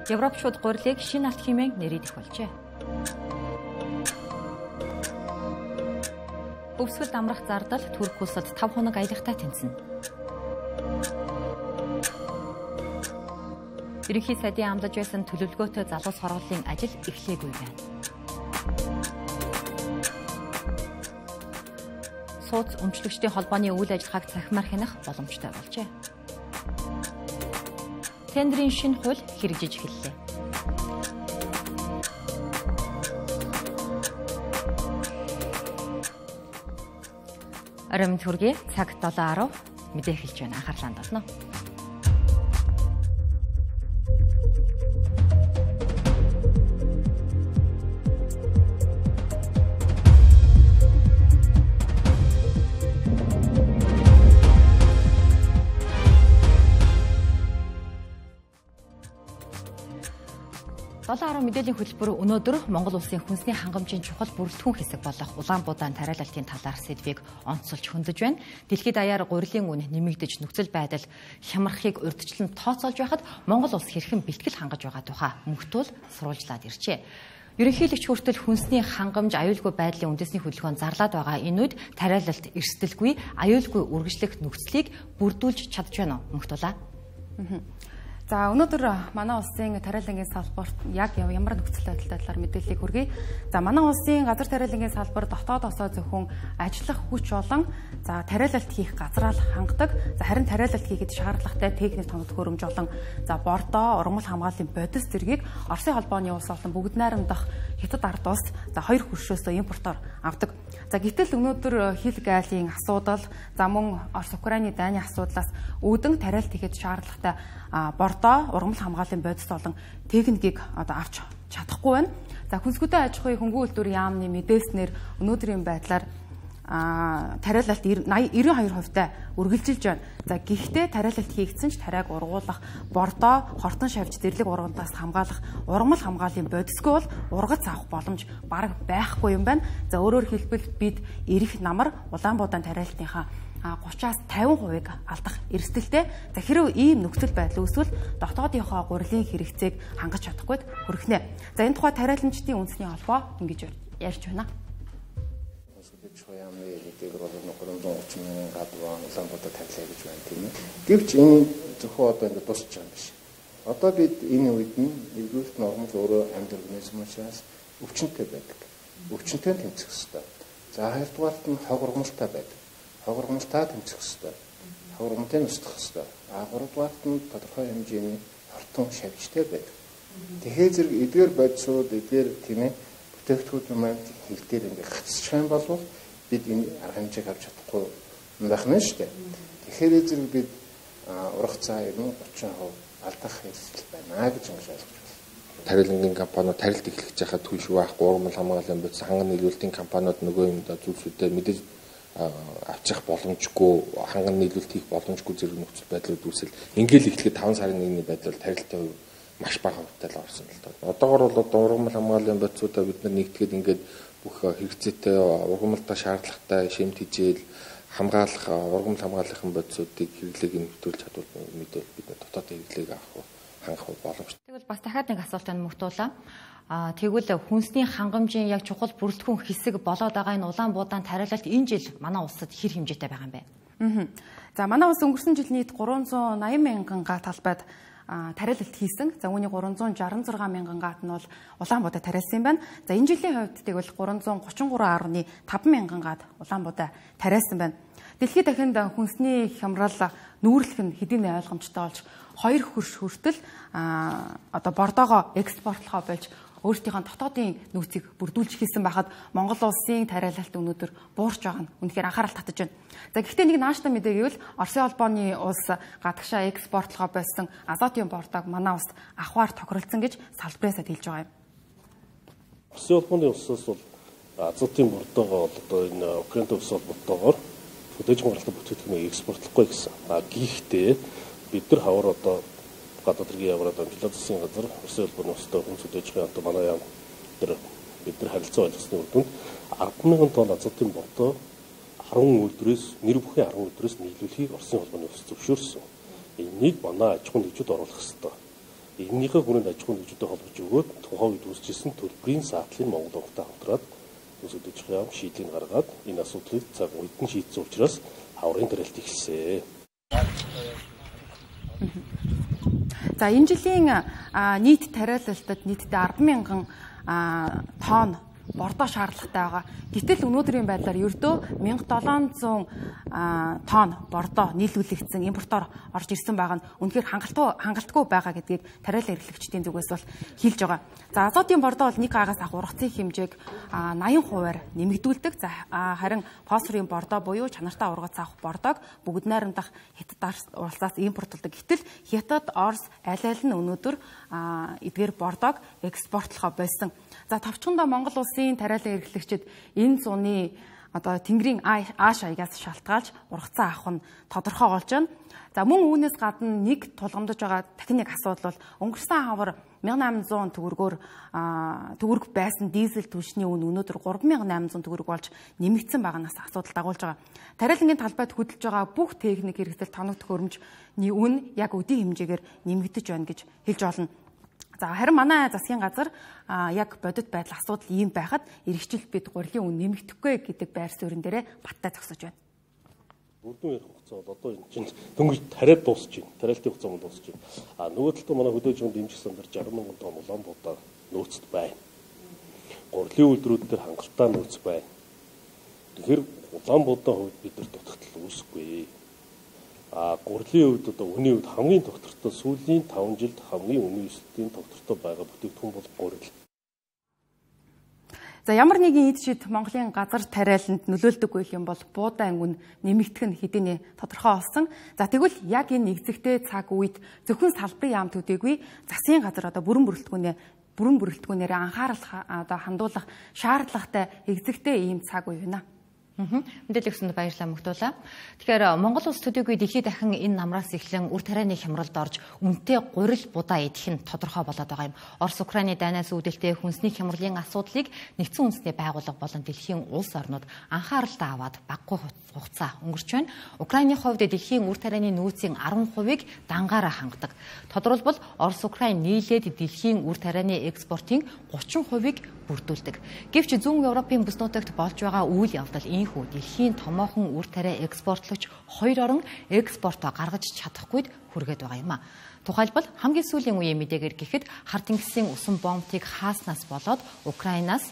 Европ шууд гурилыг шинэ алт хэмээн нэрийдэх болжээ. Өвсгөлд амрах зардал Турк улсад 5 хоног аялахтай тэнцэнэ. Ерөнхий сайдын амлаж байсан төлөвлөгөөтэй залуус хорголын ажил эхлээгүй байна. Сууц өмчлөгчдийн холбооны үйл ажиллагааг цахимаар хянах боломжтой болжээ. Тендерийн шинэ хууль хэрэгжиж эхэллээ. Оройн төргийн цаг 7:10 мэдээ эхэлж байна. Анхаарлаа хандуулна. Мэдээллийн хөтөлбөр өнөөдөр Монгол улсын хүнсний хангамжийн чухал бүрэлдэхүүн хэсэг болох Улаанбуудаан тариалалтын талаар сэдвийг онцолж хөндөж байна. Дэлхийд даяар гурилын үн нэмэгдэж нөхцөл байдал хямрахыг урьдчилан тооцоолж байхад Монгол улс хэрхэн бэлтгэл хангаж байгаа тухай мөхтөл сурвалжлаад иржээ. Ерөнхийлөгч хүртэл хүнсний хангамж аюулгүй байдлын үндэсний хөдөлгөөнд зарлаад байгаа энэ үед тариалалт эрсдэлгүй аюулгүй үргэлжлэх нөхцөлийг бүрдүүлж чадж байна уу мөхтөлөө? За өнөөдөр манай улсын тариалангийн салбарт яг ямар нөхцөл байдалтай талаар мэдээллийг хүргэе. За манай улсын газар тариалангийн салбар дотоодосоо зөвхөн ажиллах хүч болон за тариалалт хийх газраа л хангадаг. За харин тариалалт хийхэд шаардлагатай техник тоног хөрөмж болон за бордоо, ургамал хамгааллын бодис зэргийг Оросын холбооны улс болон бүгд найрамдах Хятад ард улс за 2 хөршөөсөө импортоор авдаг. За гэтэл өнөөдөр хил гайлын асуудал, за мөн Орос Украины дайны асуудлаас үүдэн тариалт хийхэд шаардлагатай бордоо, ургамал хамгааллын бодис болон техникийг одоо авч чадахгүй байна. За хүнсгүйтэн аж ахуйн хөнгөн үйлдвэр яамны мэдээснээр өнөөдрийн байдлаар тариалалт 92%-тай үргэлжилж байна. За гэхдээ тариалалт хийгдсэн ч тариаг ургуулах, бордоо, хортон шавж зэрлэг ургамлаас хамгаалах, ургамал хамгааллын бодисгүй бол ургац авах боломж бараг байхгүй юм байна. За өөрөөр хэлбэл бид эрэх намар Улаанбуудаан тариалтынхаа 30-аас 50%-ыг алдах эрсдэлтэй. За хэрэв ийм нөхцөл байдал үүсвэл дотоодынхоо гурилын хэрэгцээг хангаж чадахгүйд хүрхнэ. За энэ тухай тариаланчдын үндэсний холбоо ингэж ярьж байна. Яамны эдгээр бол 330 мянган гадуурн Улаанбуудаан тариалаа гэж байна тийм ээ. Гэвч энэ зөвхөн одоо ингэ дуусч байгаа юм биш. Одоо бид энэ үед нь нэгдүгээр нормал өөрөө амьд организм учраас өвчнөд байдаг. Өвчнөд тэмцэх хэрэгтэй. За хоёрдугаарт нь хог ургамалтай байдаг. Хог ургамалтай тэмцэх хэрэгтэй. Хог ургамалтай устгах хэрэгтэй. Гуравдугаарт нь тодорхой хэмжээний хортон шавьжтай байдаг. Тэгэхээр зэрэг эдгээр бодисууд эдгээр тийм ээ бүтээгдэхүүн маань хил дээр ингэ гацчих юм бол бид энэ арга хэмжээг авч чадахгүй байх нь шүү дээ. Тэгэхээр зэрэг бид ургацаа 30% алдах хэрэгсэл байна гэж ингэж ойлгож байна. Тариалангийн компаниуд тарилт эхлэж байхад түнш байхгүй ургамал хамгааллын бодис ханган нийлүүлэлтийн компаниуд нөгөө юм зүйлсүүдэд мэдээж авчих боломжгүй ханган нийлүүлэлт хийх боломжгүй зэрэг нөхцөл байдлууд үүсэл ингээл эхлэхэд 5 сарын 1-ний байдлаар тарилттай маш бага хувьтай л орсон л доо. Одоогор бол одоо ургамал хамгааллын бодисуудаа бид нар нэгтгэхэд ингээд бүх хэрэгцээтэй ургамалтай шаардлагатай шимт хижээл хамгаалах ургамал хамгааллын бодисуудыг хэрэглээг нэмэгдүүлж чадвал мэдвэл бид дотоодын хэрэглээг авах хангах боломжтой. Тэгвэл бас дахиад нэг асуулт мөхтүүлээ. Тэгвэл хүнсний хангамжийн яг чухал бүрэлдэхүүн хэсэг болоод байгаа энэ Улаанбуудаан тариалалт энэ жил манай улсад хэр хэмжээтэй байгаа юм бэ? За манай улс өнгөрсөн жил нийт 380 мянган га талбайд тариалалт хийсэн. За үүний 366 мянган гаат нь бол Улаанбуудаан тариалсан юм байна. За энэ жилийн хувьд тэгвэл 333.5 мянган гаат Улаанбуудаан тариалсан байна. Дэлхийд дахинд хүнсний хямрал нүүрлэх нь хэдийн ойлгомжтой болж 2 хөрш хүртэл одоо бордоогоо экспортлохоо болж өөрсдийнхөө дотоодын нөөцийг бүрдүүлж хийсэн байхад Монгол улсын тариалалт өнөөдөр буурч байгаа нь үнэхээр анхаарал татаж байна. За гэхдээ нэг нааштай мэдээ гэвэл Оросын холбооны улс гадагшаа экспортлохоо болсон азотын бордоог манай улс авахар тохиролцсон гэж салбараасаа хэлж байгаа юм. Оросын холбооны улсаас бол азотын бордоогоо одоо энэ Украинд улс холбоотойгоор хөдөөж хамгаалалтын бүтээгдэхүүнийг экспортлохгүй гэсэн. Гэхдээ бид нар хавар одоо гадаад хэргийн яваад амжилттай засгийн газар Оросын холбооны улстай хүн хөдөөжийн одоо манай яам тэр бид нар харилцаа ойлгосны үр дүнд 10,000 тонн азотын бордоо 10 өдрөөс нэр бүхэн 10 өдрөөс нийлүүлэхийг Оросын холбооны улс зөвшөөрсөн. Энийг манай аж ахуйн нэгжид оруулах хэрэгтэй. энэнийхээ хүрээнд аж ахуйн нэгжүүдэд холбож өгөөд тухайн үед үүсчихсэн төлбөрийн саатлыг Монгол Банктай хамтраад төсөлдөж яам шийдлийг гаргаад энэ асуудлыг цаг үед нь шийдсэн учраас хаврын тариалт эхэлсэн. За энэ жилийн нийт тариалалтад нийтдээ 10,000 тонн бордоо шаардлагатай байгаа. Гэтэл өнөөдрийн байдлаар ердөө 1700 тонн бордоо нийлүүлэгдсэн импортоор орж ирсэн байгаа нь үнэхээр хангалтгүй байгаа гэдгийг тариалан эрхлэгчдийн зүгээс бол хэлж байгаа. За азотын бордоо бол 1 агаас ах ургацын хэмжээг 80%-аар нэмэгдүүлдэг. За харин фосфорын бордоо буюу чанартай ургац авах бордоог бүгд найрамдах Хятад улсаас импортлдог. Гэтэл Хятад, Орос аль нь өнөөдөр эдгээр бордоог экспортлохоо болсон. За товчхондоо Монгол улсын тариалан эрхлэгчид энэ зууны одоо тэнгэрийн ааш аягаас шалтгаалж ургацаа авах нь тодорхой болж байна. За мөн үүнээс гадна нэг тулгамдж байгаа дахин нэг асуудал бол өнгөрсөн хавар 1800 төгрөг байсан дизель түлшний үн өнөөдөр 3800 төгрөг болж нэмэгдсэн байгаанаас асуудал дагуулж байгаа. Тариалангийн талбайд хөдөлж байгаа бүх техник хэрэгсэл тоног төхөөрөмжний үн яг өдийн хэмжээгээр нэмэгдэж байна гэж хэлж болно. За харин манай засгийн газар яг бодит байдал асуудал ийм байхад эргэжил бид гурилын үн нэмэгдэхгүй гэдэг байр суурин дээрээ баттай зогсож байна. Үрдүн ярих хугацаа бол одоо энэ чинь дөнгөж тариад дуусч байна. Тариалтын хугацаа мөн дуусч байна. Нөгөө талд манай хөдөөжин дэмжих сандар 60,000 тонн Улаанбаатар нөөцт байна. Гурилын үйлдвэрүүд дээр хангалттай нөөц байна. Тэгэхээр Улаанбаатарын хувьд бид нар дутагдал үүсэхгүй. Гурилын хувьд одоо үнийн хувьд хамгийн доктортой сүүлийн 5 жилд хамгийн үнийн өсөлтийн доктортой байгаа бүтээгдэхүүн бол гурил. За ямар нэгэн эд шид Монголын газар тариаланд нөлөөлдөггүй юм бол буудаан үн нэмэгдэх нь хэдийнэ тодорхой болсон. За тэгвэл яг энэ нэгзэгтэй цаг үед зөвхөн салбарын яам төдийгүй засгийн газар одоо бүрэн бүрэлдэхүүнээр анхаарал одоо хандуулах шаардлагатай экзэгтэй ийм цаг үе байна. Мэдээлэл өгсөнд баярлалаа Мөгдүүлээ. Тэгэхээр Монгол улс төдийгүй дэлхийд дахин энэ намраас эхлэн үр тарианы хямралд орж үнэтэй гурил будаа идэх нь тодорхой болоод байгаа юм. Орос Украины дайнаас үүдэлтэй хүнсний хямралын асуудлыг нэгдсэн үндэсний байгууллага болон дэлхийн улс орнууд анхааралтай аваад баггүй хугацаа өнгөрч байна. Украины хувьд дэлхийн үр тарианы нөөцийн 10%-ийг дангаараа хангадаг. Тодорхойлбол Орос Украин нийлээд дэлхийн үр тарианы экспортын 30%-ийг бүрдүүлдэг. Гэвч зүүн Европын бүс нутагт болж байгаа үйл явдал ийхүү дэлхийн томоохон үр тариа экспортлогч 2 орон экспортоо гаргаж чадахгүйд хүргээд байгаа юм а. Тухайлбал хамгийн сүүлийн үеийн мэдээгээр гэхэд хар тэнгисийн усан бомбыг хааснаас болоод Украинаас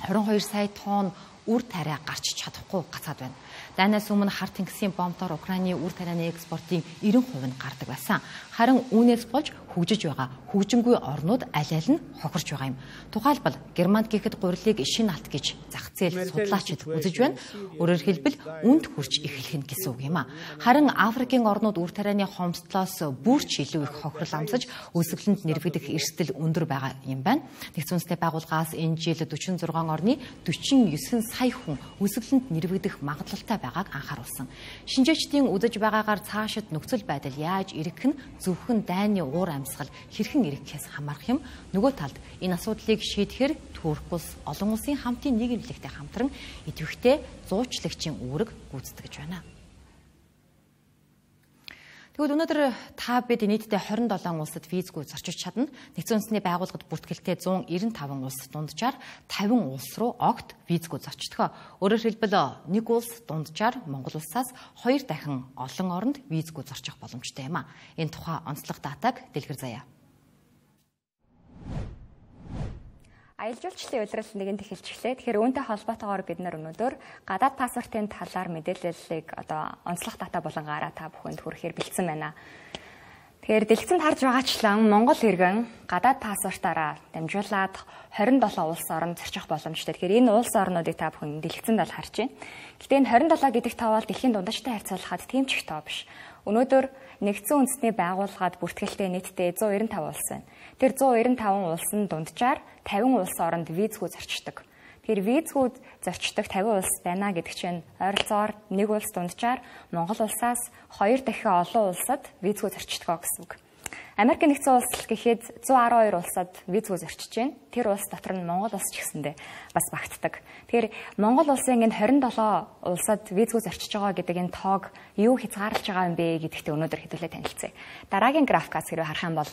22 сая тонн үр тариа гарч чадахгүй гацаад байна. Дайнаас өмнө хар тэнгисийн бомбоор Украины үр тарианы экспортын 90% нь гардаг байсан. Харин үүнээс болж хөгжиж байгаа хөгжингүй орнууд аль аль нь хохирч байгаа юм. Тухайлбал Германд гэхэд гурилыг шинэ алт гэж зах зээл судлаачид үзэж байна. Өөрөөр хэлбэл үнд хүрч эхлэх нь гэсэн үг юм а. Харин Африкийн орнууд үр тарианы хомсдлоос бүрч илүү их хохирол амсаж өсөглөнд нэрвэгдэх эрсдэл өндөр байгаа юм байна. Нэгдсэн үндэсний байгууллагаас энэ жил 46 орны 49 сая хүн өсөглөнд нэрвэгдэх магадлалтай байгааг анхааруулсан. Шинжээчдийн үзэж байгаагаар цаашид нөхцөл байдал яаж ирэх нь зөвхөн дайны уур амьсгал хэрхэн ирэхээс хамаарх юм. Нөгөө талд энэ асуудлыг шийдэхээр Турк улс олон улсын хамтын нийгэмлэгтэй хамтран идэвхтэй зуучлагчийн үүрэг гүйцэтгэж байна. Тэгвэл өнөөдөр та бид нийтдээ 27 улсад визгүй зорчиж чадна. Нэгдсэн үндэсний байгууллагад бүртгэлтэй 195 улс дунджаар 50 улс руу огт визгүй зорчдог. Өөрөөр хэлбэл нэг улс дунджаар Монгол улсаас 2 дахин олон оронд визгүй зорчих боломжтой юм а. Энэ тухай онцлог датаг дэлгэр заяа. Аялал жуулчлалын улирал нэгэн эхэлчихлээ. Тэгэхээр үүнтэй холбоотойгоор бид нар өнөөдөр гадаад паспортын талаар мэдээллийг одоо онцлог дата болонгаараа та бүхэнд хүрэхээр бэлдсэн байна. Тэгэхээр дэлгэцэнд харж байгаачлан Монгол иргэн гадаад паспортаараа дамжуулаад 27 улс оронд зорчих боломжтой. Тэгэхээр энэ улс орнуудыг та бүхэн дэлгэцэнд л харж байна. Гэхдээ энэ 27 гэдэг тоо бол дэлхийн дундажтай харьцуулахад тийм ч их тоо биш. Өнөөдөр нэгдсэн үндэсний байгууллагад бүртгэлтэй нийтдээ 195 улс байна. Тэр 195 улсын дунджаар 50 улс оронд визгүй зорчдог. Тэгэхээр визгүй зорчдог 50 улс байна гэдэг чинь ойролцоогоор нэг улс дунджаар Монгол улсаас 2 дахин олон улсад визгүй зорчдог гэсэн үг. Америк нэгдсэн улс гэхэд 112 улсад визгүй зорчиж байна. Тэр улс дотор нь Монгол улс ч гэсэндээ бас багтдаг. Тэгэхээр Монгол улсын энэ 27 улсад визгүй зорчиж байгаа гэдэг энэ тоог юу хязгаарлаж байгаа юм бэ гэдэгтээ өнөөдөр хэдүүлээ танилцъя. Дараагийн графикаас хэрвээ харах юм бол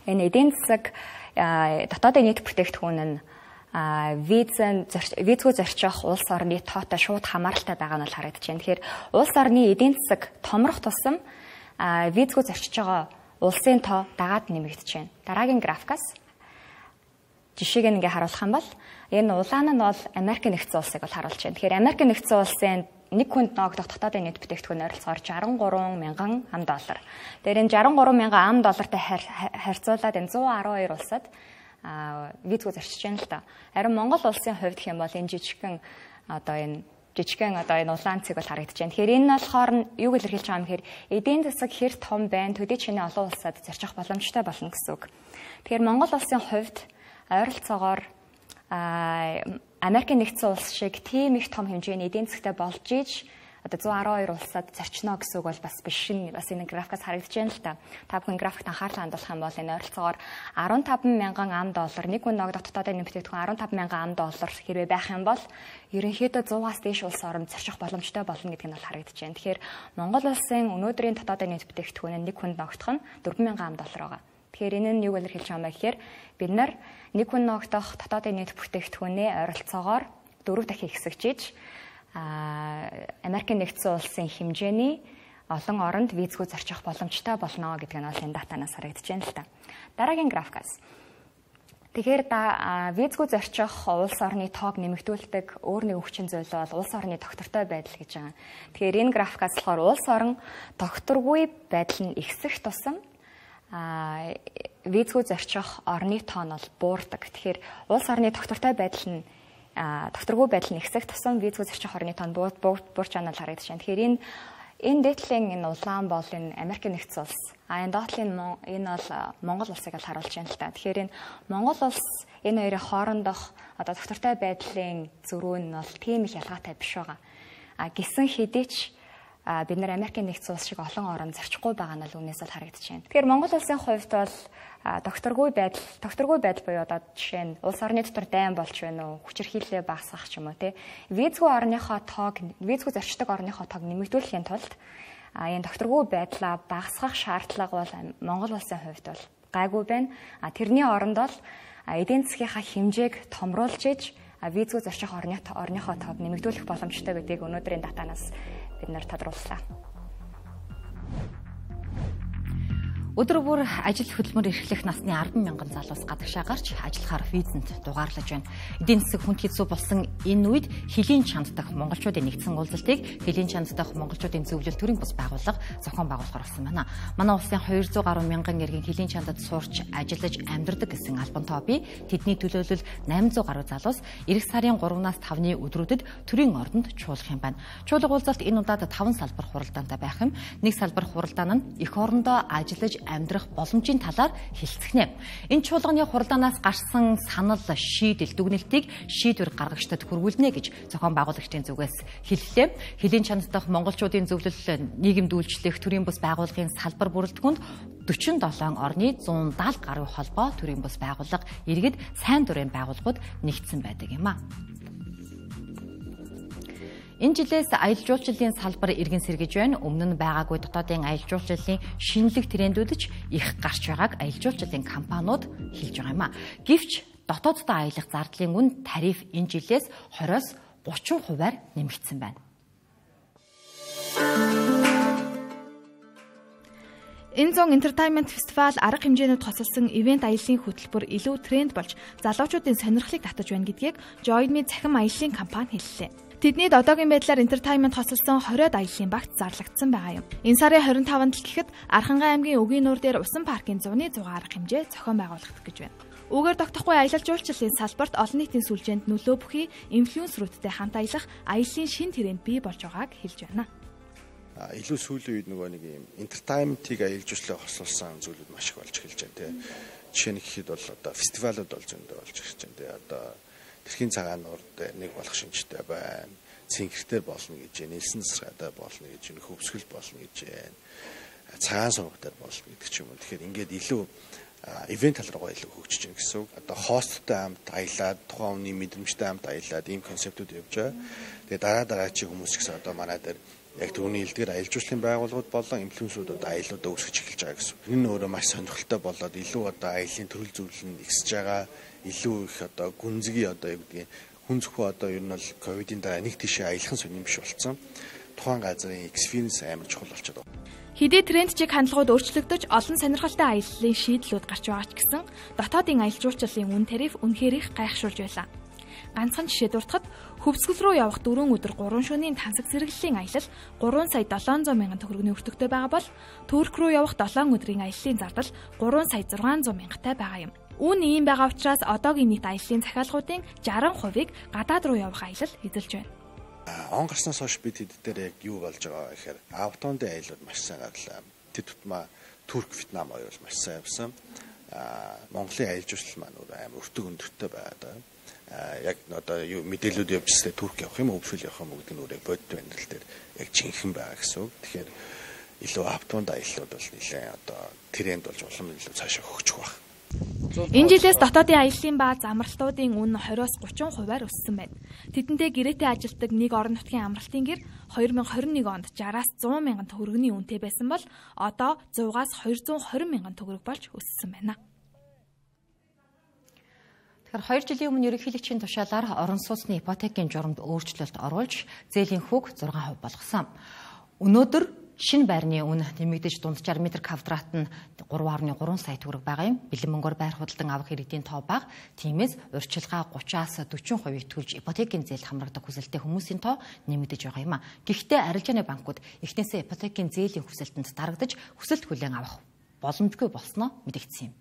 Энэ эдийн засаг дотоодын нийт бүтээгдэхүүн нь визгүй зорчих улс орны тоотой шууд хамааралтай байгаа нь бол харагдаж байна. Тэгэхээр улс орны эдийн засаг томрох тусам визгүй зорчиж байгаа улсын тоо дагаад нэмэгдэж байна. Дараагийн графикаас жишээг ингээ харуулах юм бол энэ улаан нь бол Америк нэгдсэн улсыг бол харуулж байна. Тэгэхээр Америк нэгдсэн улсын нэг хүнд ногдох дотоодын нийт бүтээгдэхүүн ойролцоогоор $63 мянган ам. Тэгэхээр энэ $63 мянган ам доллартай харьцуулаад энэ 112 улсад визгүй зарчиж байна л та. Харин Монгол улсын хувьд гэх юм бол энэ жижигхэн энэ улаан цэг бол харагдаж байна. Тэгэхээр энэ болохоор юу илэрхийлж байгаа юм гэхээр эдийн засаг хэр том байна, төдий чиний олон улсад зарчих боломжтой болно гэсэн үг. Тэгэхээр Монгол улсын хувьд ойролцоогоор Америк нэгдсэн улс шиг тийм их том хэмжээний эдийн засагтай болж иж 112 улсад зарчно гэсэн үг бол бас биш нь бас энэ графикаас харагдаж байна л та. Та бүхэн графикт анхаарал хандуулах юм бол энэ ойролцоогоор $15 мянган ам, нэг хүн ногдох дотоодын бүтээгдэхүүн $15 мянган ам хэрвээ байх юм бол ерөнхийдөө 100-аас дээш улс орнд зарчих боломжтой болно гэдэг нь бол харагдаж байна. Тэгэхээр Монгол улсын өнөөдрийн дотоодын нийт бүтээгдэхүүн нэг хүнд ногдох нь $4 мянган ам байгаа. Тэгэхээр энэ нь юу илэрхийлж байгаа юм бэ гэхээр бид нар нэг хүн ногдох дотоодын нийт бүтээгдэхүүнээ ойролцоогоор 4 дахин ихсэгжиж Америк нэгдсэн улсын хэмжээний олон оронд визгүй зарчих боломжтой болно гэдэг нь бол энэ датанаас харагдаж байна л та. Дараагийн графикаас. Тэгэхээр визгүй зарчих улс орны тоог нэмэгдүүлдэг өөр нэг хүчин зүйл бол улс орны тогтвортой байдал гэж байгаа. Тэгэхээр энэ графикаас болохоор улс орон тогтворгүй байдал нь ихсэх тусам визгүй зарчих орны тоо нь бол буурдаг. Тэгэхээр улс орны тогтвортой байдал нь тогтворгүй байдал нь ихсэх тусам визгүй зарчих орны тоо нь буурч байгаа нь харагдаж байна. Тэгэхээр энэ дээдлийн энэ улаан бол энэ Америк нэгдсэн улс. Энэ доотлын энэ бол Монгол улсыг л харуулж байна л та. Тэгэхээр энэ Монгол улс энэ хоёрын хоорондох тогтвортой байдлын зөрүү нь бол тийм их ялгаатай биш байгаа. Гэсэн хэдий ч бид нар Америк нэгдсэн улс шиг олон орон зарчихгүй байгаа нь л үүнээс л харагдаж байна. Тэгэхээр Монгол улсын хувьд бол тогтворгүй байдал буюу одоо жишээ нь улс орны дотор дайн болж байна уу, хүчирхийлэл багасгах ч юм уу тий. Визгүй зарчдаг орныхоо тоог нэмэгдүүлэхийн тулд энэ тогтворгүй байдлаа багасгах шаардлага бол Монгол улсын хувьд бол гайгүй байна. Тэрний оронд бол эдийн засгийнхаа хэмжээг томруулж иж визгүй зарчих орныхоо тоог нэмэгдүүлэх боломжтой гэдгийг өнөөдрийн датанаас бид нар тодрууллаа. Өдөр бүр ажил хөдөлмөр эрхлэх насны 10 мянган залуус гадагшаа гарч ажиллахаар визэнд дугаарлаж байна. Эдийн засаг хүнд хэцүү болсон энэ үед Хилийн чанд дахь монголчуудын нэгдсэн уулзалтыг Хилийн чанд дахь монголчуудын зөвлөл төрийн бус байгууллага зохион байгуулахаар болсон байна. Манай улсын 200 гаруй мянган иргэн Хилийн чандад сурч ажиллаж амьдардаг гэсэн албан тооби тэдний төлөөлөл 800 гаруй залуус эх сарын 3-наас 5-ны өдрүүдэд төрийн ордонд чуулгах юм байна. Чуулга уулзалт энэ удаад 5 салбар хуралдаантай байх юм. Нэг салбар хуралдаан нь эх орондоо ажиллаж амьдрах боломжийн талаар хэлцгэнэ. Энэ чуулганы хуралдаанаас гарсан санал шийдэл дүгнэлтийг шийдвэр гаргагчдад хүргүүлнэ гэж зохион байгуулагчдын зүгээс хэллээ. Хилийн чанд дахь монголчуудын зөвлөл нийгэмд үйлчлэх төрийн бус байгууллагын салбар бүрэлдэхүүнд 47 орны 170 гаруй холбоо төрийн бус байгууллага иргэд сайн дурын байгууллагууд нэгдсэн байдаг юм а. Энэ жилээс аялал жуулчлалын салбар иргэн сэргэж байна. Өмнө нь байгаагүй дотоодын аялал жуулчлалын шинэлэг трендүүд ч их гарч байгааг аялал жуулчлалын компаниуд хэлж байгаа юм а. Гэвч дотооддоо аялах зардлын үн тариф энэ жилээс 20-оос 30%-аар нэмэгдсэн байна. Энэ зон Entertainment Festival арга хэмжээнүүд хосолсон ивент аяллаа хөтөлбөр илүү тренд болж залуучуудын сонирхлыг татаж байна гэдгийг Join Me цахим аяллаа компани хэллээ. Тэдний одоогийн байдлаар Entertainment хосолсон 20-од аяллаа багт зарлагдсан байгаа юм. Энэ сарын 25-нд л гэхэд Архангай аймгийн Үгийн нуур дээр усан паркын зуны 100 арга хэмжээ зохион байгуулагдах гэж байна. Үгээр тогтохгүй аялал жуулчлалын салбарт олон нийтийн сүлжээнд нөлөө бүхий инфлюенсерүүдтэй хамт аялах аяллаа шин тренд бий болж байгааг хэлж байна. Илүү сүүлийн үед нөгөө нэг юм entertainment-ийг аялал жуулчлалыг хослуулсан зүйлүүд маш их болж эхэлж байна тий. Жишээ нь гэхэд бол одоо фестивалууд болж зөндөө болж эхэлж байна тий. Одоо Тэрхийн цагаан нурд нэг болох шинжтэй байна. Цэнхэртэй болно гэж байна. Нэлсэн засгаатай болно гэж байна. Хөвсгөл болно гэж байна. Цагаан сургалтаар болно гэдэг ч юм уу. Тэгэхээр ингээд илүү ивент тал руугаа илүү хөгжиж байна гэсэн үг. Одоо хосттой хамт аялаад, тухайн хүний мэдрэмжтэй хамт аялаад ийм концептууд явж байгаа. Тэгээ дараа чи хүмүүс ч гэсэн одоо манай дээр яг түүний илдгээр аялал жуулчлалын байгууллагууд болон инфлюенсерүүд одоо аяллуудаа үүсгэж эхэлж байгаа гэсэн. Энэ нь өөрөө маш сонирхолтой болоод илүү одоо аяллаа төрөл зөвлөл нь ихсэж байгаа, илүү их одоо гүнзгий одоо юу гэдгийг хүн зөвхөн одоо ер нь бол ковидын дараа нэг тийшээ аялах сонирм биш болсон. Тухайн газрын experience амар чухал болчиход байна. Хэдий тренд чиг хандлагууд өөрчлөгдөж олон сонирхолтой аяллалын шийдлүүд гарч байгаа ч гэсэн дотоодын аялал жуулчлалын үн тариф үнэхээр их гайхшруулж байлаа. Ганцхан жишээ дуртахад хөвсгөл рүү явах 4 өдөр 3 шөнийн тансаг зэрэглэлийн аялал 3 сая 700 мянган төгрөгийн өртөгтэй байгаа бол Турк руу явах 7 өдрийн аяллалын зардал 3 сая 600 мянгатай байгаа юм. Үүн ийм байгаа учраас одоогийн нийт аяллалын захиалгуудын 60%-ыг гадаад руу явах аялал эзэлж байна. Он гарснаас хойш бид хэд дээр яг юу болж байгаа гэхээр автондын аяллууд маш сайн гарлаа. Тэд тутмаа Турк, Вьетнам оёл маш сайн явсан. Монголын аялал жуулчлал маань амар өртөг өндөртэй байгаа. Яг одоо юу мэдээлүүд явжстай Турк явах юм уу, өвсөл явах юм уу гэдэг нь өөрөө бодит амьдрал дээр яг жинхэнэ байгаа гэсэн үг. Тэгэхээр илүү автонд аяллууд бол нэлээд одоо тренд болж улам илүү цаашаа хөгжих баг. Энэ жилээс дотоодын аяллын ба замралтуудын үн 20-30%-аар өссөн байна. Тэдэнтэй гэрээтэй ажилтдаг нэг орон нутгийн амралтын гэр 2021 онд 60-аас 100 мянган төгрөгийн үнэтэй байсан бол одоо 100-аас 220 мянган төгрөг болж өссөн байна. Тэгэхээр 2 жилийн өмнө ерөнхийлөгчийн тушаалаар орон сууцны ипотекийн журамд өөрчлөлт оруулж зээлийн хүүг 6% болгосон. Өнөөдөр шинэ байрны үн нэмэгдэж дунджаар метр квадрат нь 3.3 сая төгрөг байгаа юм. Бэлэн мөнгөөр байр худалдан авах иргэдийн тоо бага. Тиймээс урьдчилгаа 30-аас 40% төлж ипотекийн зээл хамрагдаг хүсэлтэй хүмүүсийн тоо нэмэгдэж байгаа юм а. Гэхдээ арилжааны банкуд эхнээсээ ипотекийн зээлийн хүсэлтэнд дарагдаж хүсэлт хүлээн авах боломжгүй болсноо мэдэгдсэн юм.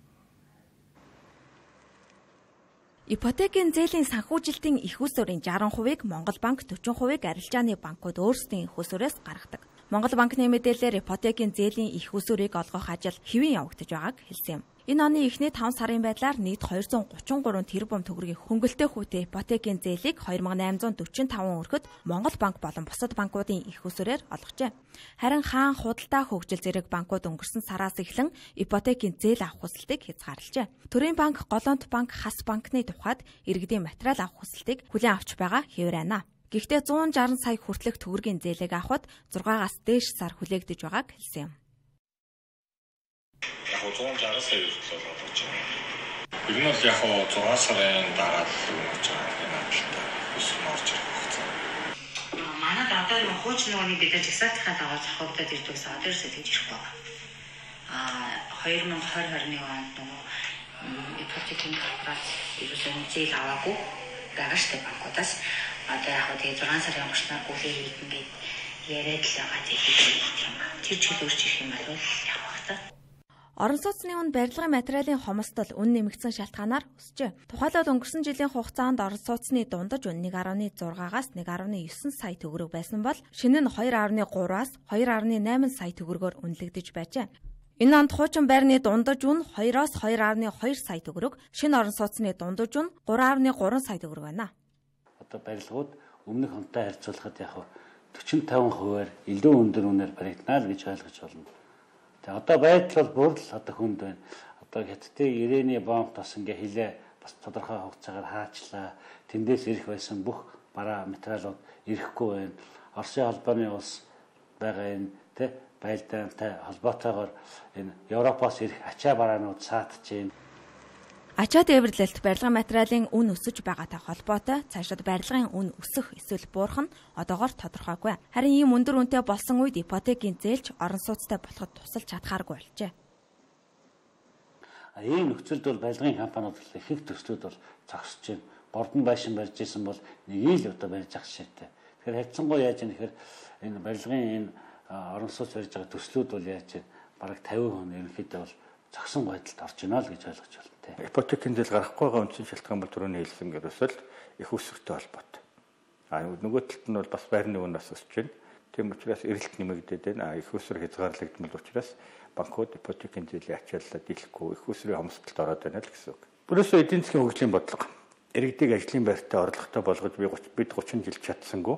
Ипотекийн зээлийн санхүүжилтийн их усурын 60%-ыг Монгол банк, 40%-ыг арилжааны банкуд өөрсдийн их усурээс гаргадаг. Монгол банкны мэдээлэлээр ипотекийн зээлийн их усурыг олгох ажил хэвэн явагдаж байгааг хэлсэн юм. Энэ оны эхний 5 сарын байдлаар нийт 233 тэрбум төгрөгийн хөнгөлтэй хүүтэй ипотекийн зээлийг 2845 өргөд Монгол банк болон бусад банкуудын их усурээр олгожээ. Харин хаан худалдаа хөгжил зэрэг банкуд өнгөрсөн сараас эхлэн ипотекийн зээл авах хүсэлтийг хязгаарлажээ. Төрийн банк, Голланд банк, Хас банкны тухайд иргэдийн материал авах хүсэлтийг хүлээн авч байгаа хэвээр байна. Гэхдээ 160 сая хүртэлх төгрөгийн зээлийг авахд 6-аас дээш сар хүлээгдэж байгааг хэлсэн юм. Яг 160 сая хүртэл болгож байна. Ер нь бол яг 6 сарын дараа өгч байгаа юм ажилтаа өсөх орж ирэх хэрэгцээ. Манайд одоо юм хууч нөгөөний бид нар жагсаалтынхаа дагуу зохиогдоод ирдэгс одоо ерөөсөө тэгж ирэхгүй байгаа. 2021 онд нөгөө ипотекийн корпорац ерөөсөө зээл аваагүй байгаа штеп банкудаас одоо яг тэгээ 6 сарын өнгөрснөөр гүлээ хийгээд яриад л байгаа тийм тэр чиглэл өөрч ирэх юм бол яг багтаа. Орон сууцны үн барилгын материалын хомсдол үн нэмэгдсэн шалтгаанаар өсжээ. Тухайлбал өнгөрсөн жилийн хугацаанд орон сууцны дундаж үн 1.6-аас 1.9 сая төгрөг байсан бол шинэ нь 2.3-аас 2.8 сая төгрөгөөр үнэлэгдэж байжээ. Энэ онд хуучин байрны дундаж үн 2-оос 2.2 сая төгрөг, шинэ орон сууцны дундаж үн 3.3 сая төгрөг байна. Одоо барилгууд өмнөх онтой харьцуулахад яг 40-50%-аар илүү өндөр үнээр баригдана л гэж ойлгож байна. Тэгээ одоо байдал бол бүр л одоо хүнд байна. Одоо хятадын ирээний бомб тос ингээ хилээ бас тодорхой хугацаагаар хаачлаа. Тэндээс ирэх байсан бүх бараа материалууд ирэхгүй байна. Оросын холбооны улс байгаа энэ байлдаантай холбоотойгоор энэ Европоос ирэх ачаа бараанууд саатж байна. Ачаа дээвэрлэлт барилгын материалын үн өсөж байгаатай холбоотой цаашид барилгын үн өсөх эсвэл буурах нь одоогоор тодорхойгүй. Харин ийм өндөр үнэтэй болсон үед ипотекийн зээлч орон сууцтай болоход тусалж чадхааргүй болжээ. Ийм нөхцөлд бол барилгын компаниуд их төслүүд бол зогсож байна. Гордон байшин барьж исэн бол нэг л одоо барьж ах шийдтэй. Тэгэхээр хайцсангуй яаж юм тэгэхээр энэ барилгын энэ орон сууц барьж байгаа төслүүд бол яаж вэ? Бараг 50% ерөнхийдөө бол зогсон байдалд орж байна л гэж ойлгож байна. Ипотекийн зээл гарахгүй байгаа үндсэн шалтгаан бол түрүүний хэлсэн ерөөсөл их үсвэртэй холбоотой. Нөгөө талд нь бол бас байрны үн бас өсөж байна. Тийм учраас эрэлт нэмэгдээд байна. Их үсвэр хязгаарлагдмал учраас банкуд ипотекийн зээлийн ачааллаа дийлэхгүй их үсвэрийн хомсдолд ороод байна л гэсэн үг. Өөрөөсөө эдийн засгийн хөгжлийн бодлого иргэдийг ажлын байртаа орлоготой болгож бид 30 жил чадсангүй.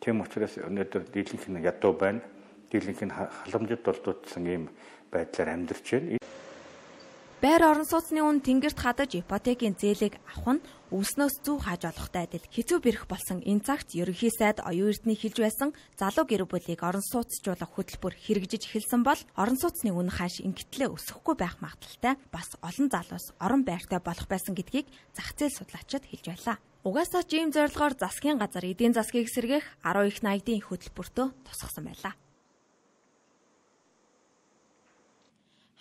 Тийм учраас өнөөдөр дийлэнх нь ядуу байна. Дийлэнх нь халамжид дулдуудсан ийм байдлаар амьдарч байна. Байр орон сууцны үн тэнгэрт хадаж ипотекийн зээлийг авах нь үлснөөс зүү хааж олохтой адил хэцүү бэрх болсон энэ цагт ерөнхий сайд оюун эрдэнэ хэлж байсан залуу гэр бүлийг орон сууцжуулах хөтөлбөр хэрэгжиж эхэлсэн бол орон сууцны үн хааш ингэтлээ өсөхгүй байх магадaltaй бас олон залуус орон байртай болох байсан гэдгийг зах зээл судлаачид хэлж байлаа. Угаасаа ийм зорилгоор засгийн газар эдийн засгийг сэргээх 10 их найдын хөтөлбөртөө тусгасан байлаа.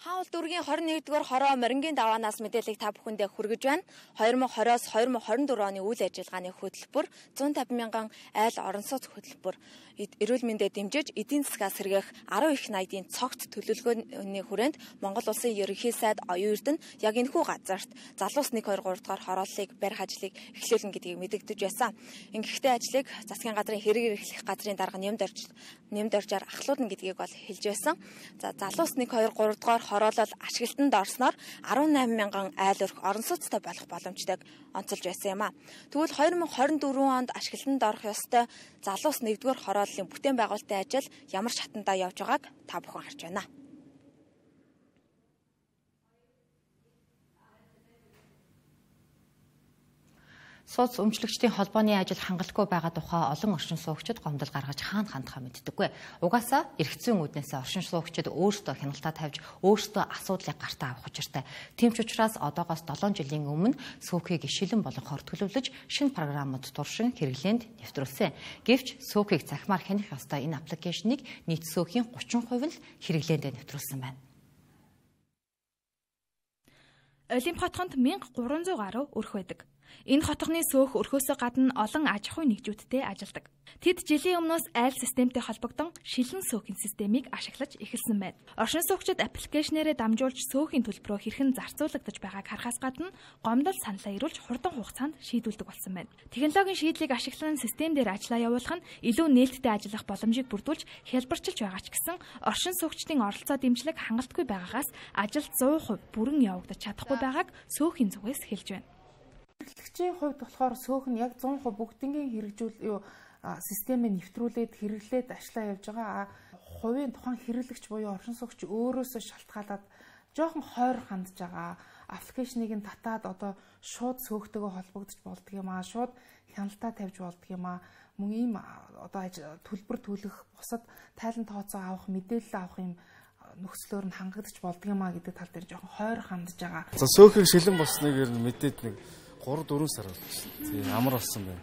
Хаул дүүргийн 21-р хороо морингийн даваанаас мэдээллийг та бүхэндээ хүргэж байна. 2020-оос 2024 оны үйл ажиллагааны хөтөлбөр 150 мянган айл орон сууц хөтөлбөр эрүүл мэндэд дэмжиж эдийн засгаа сэргээх 10 их найдын цогт төлөвлөгөөний хүрээнд Монгол улсын ерөнхий сайд оюун эрдэнэ яг энэхүү газарт залуус 1 2 3 дугаар хорооллыг барих ажлыг эхлүүлнэ гэдгийг мэдэгдэж байсан. Ингэхдээ ажлыг засгийн газрын хэрэг эрхлэх газрын дарга нэмд оржаар ахлуулна гэдгийг бол хэлж байсан. За залуус 1 2 3 дугаар хороолол ашиглалтанд орсноор 18 мянган айл өрх орон сууцтай болох боломжтойг онцолж байсан юм а. Тэгвэл 2024 онд ашиглалтанд орох ёстой залуус 1-р хорооллын бүтээн байгуулалтын ажил ямар шатандаа явж байгааг та бүхэн харж байна. Сууц өмчлөгчдийн холбооны ажил хангалтгүй байгаа тухай олон оршин суугчид гомдол гаргаж хаана хандхаа мэддэггүй. Угаасаа эргэцэн үүднээс оршин суугчид өөрсдөө хяналтаа тавьж өөрсдөө асуудлыг гартаа авах учиртай. Тийм ч учраас одоогоос 7 жилийн өмнө сүүхийг шилэн болгохоор төлөвлөж шинэ програмууд туршин хэрэглээнд нэвтрүүлсэн. Гэвч сүүхийг захимаар хянах ёстой энэ аппликейшнийг нийт сүүхийн 30% нь хэрэглээнд нэвтрүүлсэн байна. Олимп хотгонд 1300 гаруй өрх байдаг. Энэ хотгоны сөөх өрхөөсөө гадна олон аж ахуйн нэгжүүдтэй ажилладаг. Тэд жилийн өмнөөс айл системтэй холбогдсон шилэн сөөхийн системийг ашиглаж эхэлсэн байна. Оршин суугчид аппликейшнээрээ дамжуулж сөөхийн төлбөрөө хэрхэн зарцуулагдаж байгааг харахаас гадна гомдол саналаа ирүүлж хурдан хугацаанд шийдүүлдэг болсон байна. Технологийн шийдлийг ашиглан систем дээр ажлаа явуулах нь илүү нээлттэй ажиллах боломжийг бүрдүүлж хялбарчилж байгаа ч гэсэн оршин суугчдын оролцоо дэмжлэг хангалтгүй байгаагаас ажилд 100% бүрэн явагдаж чадахгүй байгааг сөөхийн зүгээс хэлж байна. Хэрэглэгчийн хувьд болохоор сөөх нь яг 100% бүгднгийн системээ нэвтрүүлээд хэрэглээд ажиллаа явж байгаа. Хувийн тухайн хэрэглэгч буюу оршин суугч өөрөөсөө шалтгаалаад жоохон хойр хандж байгаа. Аппликейшнийг нь татаад одоо шууд сөөхтэйгээ холбогдож болдго юм аа. Шууд хяналтаа тавьж болдго юм аа. Мөн ийм одоо төлбөр төлөх, бусад тайлан тооцоо авах, мэдээлэл авах юм нөхцлөөр нь хангагдаж болдго юм аа гэдэг тал дээр жоохон хойр хандж байгаа. За сөөхийг шилэн болсныг мэдээд нэг 3-4 сар болсон. Тийм амар болсон байна.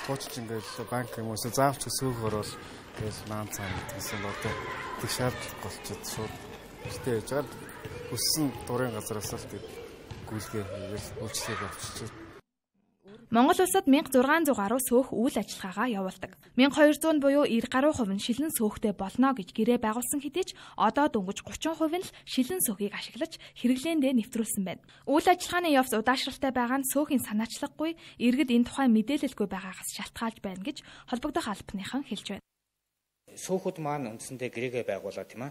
Гоочч ингээл банк юм уусаа заавч сөөх ороод тэгэл наан цаана гэсэн одоо тэг шаардлага болчиход шууд гэртээ яж байгаа өссөн дурын газараас л тэг гүйлгээ хийгээл үйлчлэг авчиж. Монгол улсад 1600 гаруй сөөх үйл ажиллагаагаа явуулдаг. 1200 буюу 90 гаруй хувь нь шилэн сөөхтэй болно гэж гэрээ байгуулсан хэдий ч одоо дөнгөж 30% нь л шилэн сөөхийг ашиглаж хэрэглээндээ нэвтрүүлсэн байна. Үйл ажиллагааны явц удаашралтай байгаа нь сөөхийн санаачлаггүй, иргэд энэ тухай мэдээлэлгүй байгаагаас шалтгаалж байна гэж холбогдох албаныхан хэлж байна. Сөөхүүд маань үндсэндээ гэрээгээ байгуулаад тийм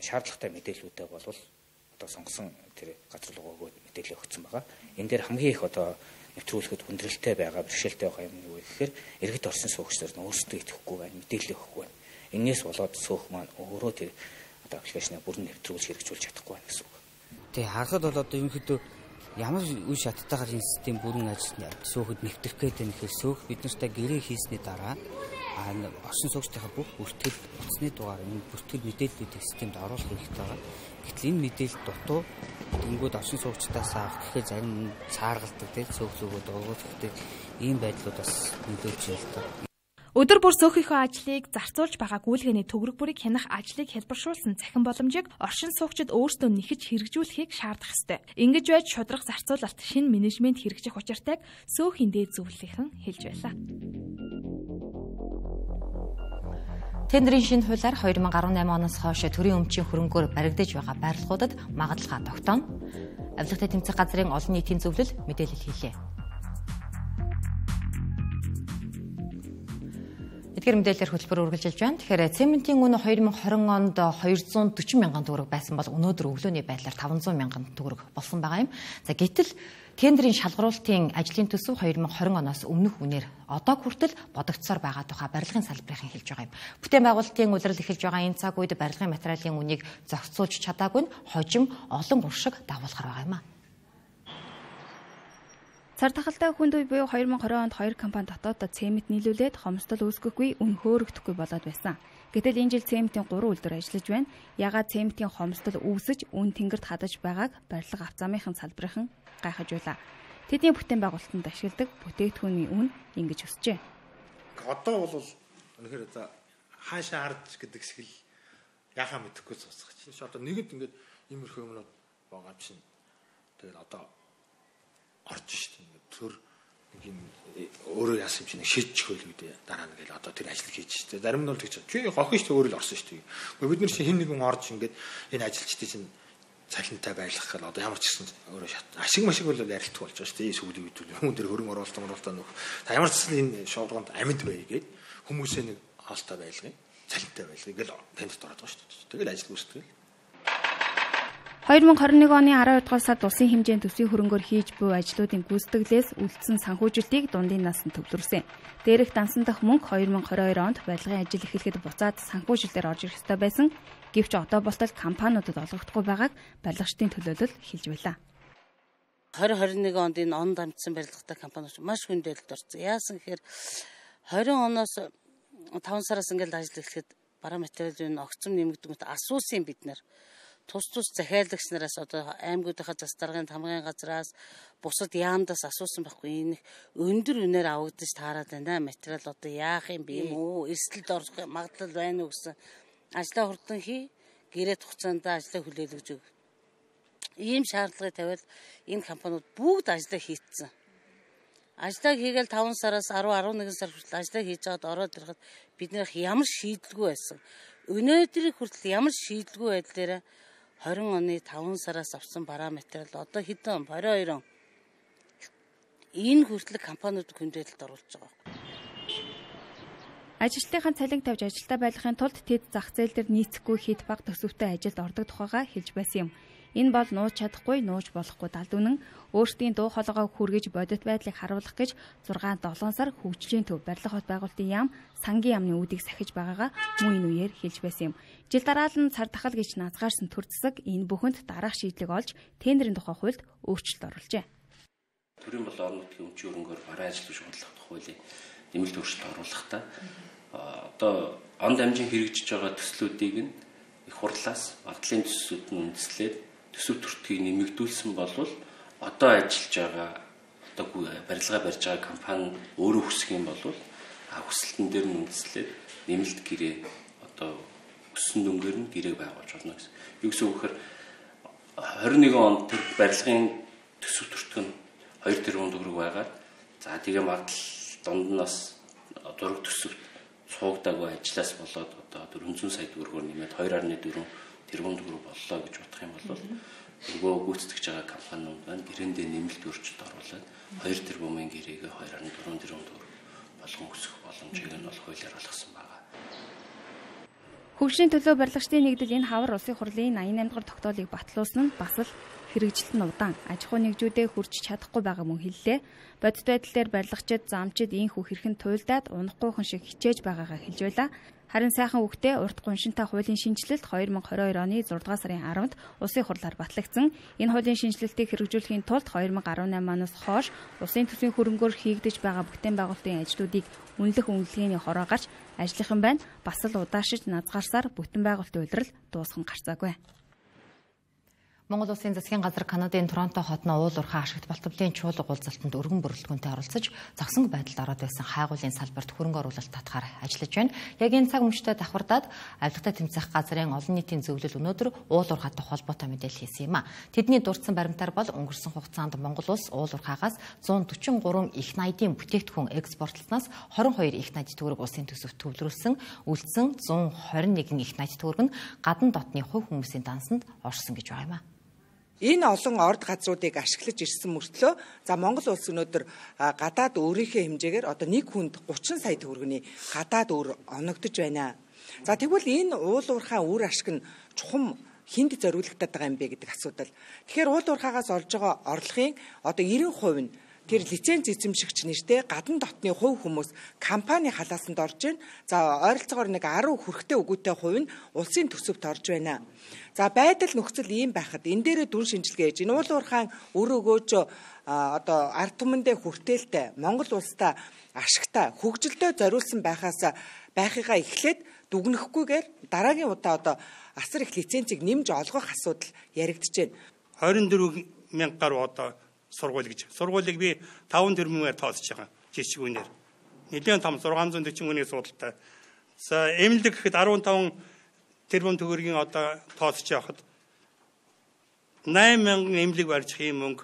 шаардлагатай мэдээллүүдээ болвол одоо сонгосон тэр газар руу өгөөд мэдээлэл өгсөн байгаа. Энэ дээр хамгийн их одоо нэвтрүүлэхэд хүндрэлтэй байгаа бэрхшээлтэй байгаа юм юу гэхээр иргэд орсон суугчдаар нь өөрсдөө итгэхгүй байна, мэдээлэл өгөхгүй байна. Энээс болоод суух маань өөрөө тэр одоо аппликейшнээ бүрэн нэвтрүүлж хэрэгжүүлж чадахгүй байна гэсэн үг. Тэгээ харахад бол одоо ерөнхийдөө ямар үе шаттайгаар энэ систем бүрэн ажиллана сөөхөд нэвтрэх гэдэг нь ихээр сөөх бид нартай гэрээ хийсний дараа оршин суугчдынхаа бүх бүртгэл утасны дугаар энэ бүртгэл мэдээллүүдийг системд оруулах хэрэгтэй байгаа. Гэтэл энэ мэдээлэл дутуу тэнгууд оршин суугчдаас авах гэхээр зарим цааргалдаг тийм сөөхлөгөө дургуул гэхдээ ийм байдлууд бас мэдээж ялдаг. Өдөр бүр сөөхийнхөө ажлыг зарцуулж байгаа гүйлгээний төгрөг бүрийг хянах ажлыг хэлбэршүүлсэн цахим боломжийг оршин суугчид өөрсдөө нэхэж хэрэгжүүлэхийг шаардах ёстой. Ингэж байж шудраг зарцуулалт шинэ менежмент хэрэгжих учиртайг сөөхийн дээд зөвлөлийнхэн хэлж байлаа. Тендерийн шинэ хуулиар 2018 оноос хойш төрийн өмчийн хөрөнгөөр баригдаж байгаа байрлалуудад магадлалаа тогтооно. Авилгатай тэмцэх газрын олон нийтийн зөвлөл мэдээлэл хийлээ. Эдгээр мэдээлэлээр хөтөлбөр үргэлжилж байна. Тэгэхээр цементийн үнэ 2020 онд 240 мянган төгрөг байсан бол өнөөдөр өглөөний байдлаар 500 мянган төгрөг болсон байгаа юм. За гэтэл тендерийн шалгаруулалтын ажлын төсөв 2020 оноос өмнөх үнээр одоо хүртэл бодогдсоор байгаа тухай барилгын салбарын хэлж байгаа юм. Бүтээн байгуулалтын улирал эхэлж байгаа энэ цаг үед барилгын материалын үнийг зохицуулж чадаагүй нь хожим олон уршиг дагуулгаар байгаа юм а. Цар тахалтай хүнд үе буюу 2020 онд 2 компани дотооддоо цемент нийлүүлээд хомсдол үүсгэхгүй, үн хөөрөгдөхгүй болоод байсан. Гэтэл энэ жил цементийн 3 үйлдвэр ажиллаж байна. Ягаад цементийн хомсдол үүсэж, үн тэнгэрт хадаж байгааг барилга авцаамынхан салбарынхан гайхаж байлаа. Тэдний бүтээн байгуулалтанд ашигладаг бүтээгдэхүүний үн ингэж өсжээ. Одоо бол үнэхээр за хаашаа харж гэдэг шиг л яхаа мэдэхгүй цуцгах чинь. Одоо нэгэд ингээд иймэрхүү юмнууд байгаа чинь. Тэгээд одоо орж штеп ингээд төр нэг юм өөрөө яасан юм чинь шийдчих байл үүдээ дараа нь гээл одоо тэр ажил хийж штеп. Зарим нь бол тэгж чи хохин штеп өөрөө л орсон штеп. Бид нар чинь хин нэгэн орж ингээд энэ ажилчдын чинь цалинтай байлгах гэл одоо ямар ч гэсэн өөрөө ашиг машиг бол ярилтгүй болж байгаа штеп. Сүүлийн үед хүн дээр хөрөнгө оруулалтаа нөх. Та ямар ч гэсэн энэ шуурганд амьд бай гээд хүмүүсээ нэг хаалтай байлгая. Цалинтай байлгая гэл танд ороод байгаа штеп. Тэгэл ажил үүсдэг. 2021 оны 12 дугаар сард улсын хэмжээнд төсвийн хөрөнгөөр хийж буй ажлуудын гүйцэтгэлээс үлдсэн санхүүжилтийг дундын насанд төвлөрсөн. Дээрх дансан дах мөнгө 2022 онд барилгын ажил эхлэхэд буцаад санхүүжилтээр орж ирэх ёстой байсан. Гэвч одоо болтол компаниудад олгогдохгүй байгааг барилгачдын төлөөлөл хэлж байлаа. 2021 онд энэ он дамжсан барилгатай компаниуд маш хүндэлд орсон. Яасан гэхээр 20 оноос 5 сараас ингээд ажил эхлэхэд бараа материалын огцом нэмэгдэнгэд асуусан бид нар. Тус захиалагч нараас одоо аймагуудынхаа засдаргын тамгын газраас бусад яамдаас асуусан байхгүй энэ өндөр үнээр авагдаж таарад байна материал одоо яах юм бэ үү эрсдэлд орох магадлал байна уу гэсэн ажлаа хурдан хий гэрээ хугацаанд ажлаа хүлээлгэж өг. Ийм шаардлагыг тавиад энэ компаниуд бүгд ажлаа хийцэн. Ажлаа хийгээл 5 сараас 10-11 сар хүртэл ажлаа хийж байгаад ороод ирэхэд биднийх ямар шийдэлгүй байсан. Өнөөдрийг хүртэл ямар шийдэлгүй байдлаараа 20 оны 5 сараас авсан бараа материал одоо хэдэн 22 он энэ хүртэл компаниуд хүндрэлд оруулж байгаа. Ажилтныхаа цалин тавьж ажилдаа байлгахын тулд тэд зах зээл дээр нийцэхгүй хэд бага төсөвтэй ажилд ордог тухайга хэлж байсан юм. Энэ бол нууж чадахгүй, нууж болохгүй далд үнэн өөрсдийн дуу хоолойгоо хүргэж бодит байдлыг харуулах гэж 6-7 сар хөгжлийн төв барилга хот байгуулалтын яам сангийн яамны үүдийг сахиж байгаагаа мөн энэ үеэр хэлж байсан юм. Жил дараалан цар тахал гэж назгаарсан төр засаг энэ бүхэнд дараах шийдлийг олж тендерийн тухай хуульд өөрчлөлт оруулжээ. Төрийн болон орон нутгийн өмчийн хөрөнгөөр бараа ажил шуурдлах хуулийн нэмэлт өөрчлөлт оруулахдаа одоо он дамжин хэрэгжиж байгаа төслүүдийг нь их хурлаас багдлын төслүүд нь үндэслээд төсөв төртгийг нэмэгдүүлсэн болвол одоо ажиллаж байгаа одоо барилгаа барьж байгаа компани өөрөө хүсэх юм бол хүсэлтэн дээр нь үндэслээд нэмэлт гэрээ одоо өссөн дүнгээр нь гэрээг байгуулж болно гэсэн. Юу гэсэн үг гэхээр 21 онд тэр барилгын төсөв төртг нь 2 тэрбум төгрөг байгаад за тэгээ магадлал дунднаас зураг төсөвт цуугдаагүй ажлаас болоод одоо 400 сая төгрөгөөр нэмээд 2.4 тэрбум төгрөг боллоо гэж бодох юм бол нөгөө гүйцэтгэж байгаа компаниуд байна гэрээндээ нэмэлт өөрчлөлт оруулаад 2 тэрбумын гэрээгээ 2.4 тэрбум төгрөг болгон өсгөх боломжийг нь бол хуулиар олгосон байна. Хөгжлийн төлөө барилгачдын нэгдэл энэ хавар улсын хурлын 88 дугаар тогтоолыг батлуулсан нь бас л хэрэгжилт нь удаан аж ахуй нэгжүүдэд хүрч чадахгүй байгаа мөн хэллээ. Бодит байдал дээр барилгачид замчид ийхүү хэрхэн туйлдаад унахгүйхэн шиг хичээж байгаагаа хэлж байлаа. Харин сайхан үгтээ урт гуншинтай хуулийн шинжилэлт 2022 оны 6 дугаар сарын 10-нд улсын хурлаар батлагдсан. Энэ хуулийн шинжилэлтийг хэрэгжүүлэхийн тулд 2018 оноос хойш улсын төсвийн хөрөнгөөр хийгдэж байгаа бүтээн байгуулалтын ажлуудыг үнэлэх үнэлгээний хороо гарч ажлынхан байна. Бас л удаашиж назгаарсаар бүтээн байгуулалтын улирал дуусхан гарцаагүй. Монгол Улсын засгийн газар Канадын Торонто хотно уул уурхай ашигт балтамлын чуулга уулзалтанд өргөн бүрэлдэхүүнтэй оролцож зогсон байдалд ороод байсан хайгуулын салбарт хөрөнгө оруулалт татахаар ажиллаж байна. Яг энэ цаг мөчтөд давхардаад авилгатай тэмцэх газрын олон нийтийн зөвлөл өнөөдөр уул уурхайтай холбоотой мэдээлэл хийсэн юм а. Тэдний дурдсан баримтаар бол өнгөрсөн хугацаанд Монгол улс уул уурхайгаас 143 их найдын бүтээгдэхүүн экспортлснаас 22 их найд төгрөг улсын төсөвт төвлөрүүлсэн. Үлдсэн 121 их найд төгрөг нь гадна дотны хувь хүмүүсийн дансанд орсон гэж байгаа юм а. Энэ олон орд газруудыг ашиглаж ирсэн мөртлөө за Монгол улс өнөөдөр гадаад өөрийнхөө хэмжээгээр одоо нэг хүнд 30 сая төгрөгийн гадаад өр оногдож байна. За тэгвэл энэ уул уурхай үр ашиг нь чухам хинд зориулагдаад байгаа юм бэ гэдэг асуудал. Тэгэхээр уул уурхайгаас олж байгаа орлогын одоо 90% нь тэр лиценз эзэмшигч нэртэй гадна дотны хувь хүмүүс компани халаасанд орж байна. За ойролцоогоор нэг 10 хүрэхтэй үгүйтэй хувь нь улсын төсөвт орж байна. За байдал нөхцөл ийм байхад энэ дээрээ дүн шинжилгээ хийж энэ уул уурхайн өр өгөөж одоо ард түмэндээ хүртээлтэй Монгол улстай ашигтай хөгжилдөө зориулсан байхыгаа эхлээд дүгнэхгүйгээр дараагийн удаа одоо асар их лицензийг нэмж олгох асуудал яригдж байна. 24,000 гаруй одоо сургууль гэж. Сургуулийг би 5 тэрбумээр тооцож байгаа жишгүүнээр. Нэлээд том 640 хүний судалтай. За эмнэлэг гэхэд 15 тэрбум төгрөгийн одоо тооцож явахад 8,000 эмнэлэг барьж ийм мөнгө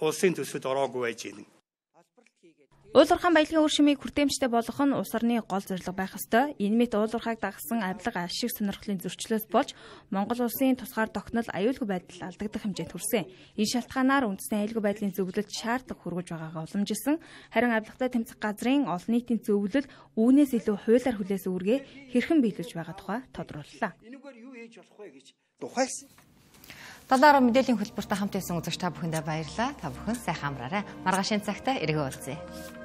улсын төсвөд ороогүй байж байна. Уул уурхайн баялагын үр шимийг хүртээмжтэй болгох нь улс орны гол зорилго байх ёстой. Энэ мэт уул уурхайг дагсан авилга ашиг сонирхлын зөрчлөөс болж Монгол улсын тусгаар тогтнол аюулгүй байдал алдагдах хэмжээнд хүрсэн. Энэ шалтгаанаар үндэсний аюулгүй байдлын зөвлөлд шаардлага хүргэж байгаагаа уламжилсан. Харин авилгатай тэмцэх газрын олон нийтийн зөвлөл үүнээс илүү хуулиар хүлээс үүргээ хэрхэн биелүүлж байгаа тухай тодрууллаа. Энэгээр юу хийж болох вэ гэж тухайс. Талаар мэдээллийн хөтөлбөртөд хамт байсан үзэгч та бүхэндээ баярлалаа. Та бүхэн сайхан амраарай. Маргаашийн цагтаа эргэн уулзъя.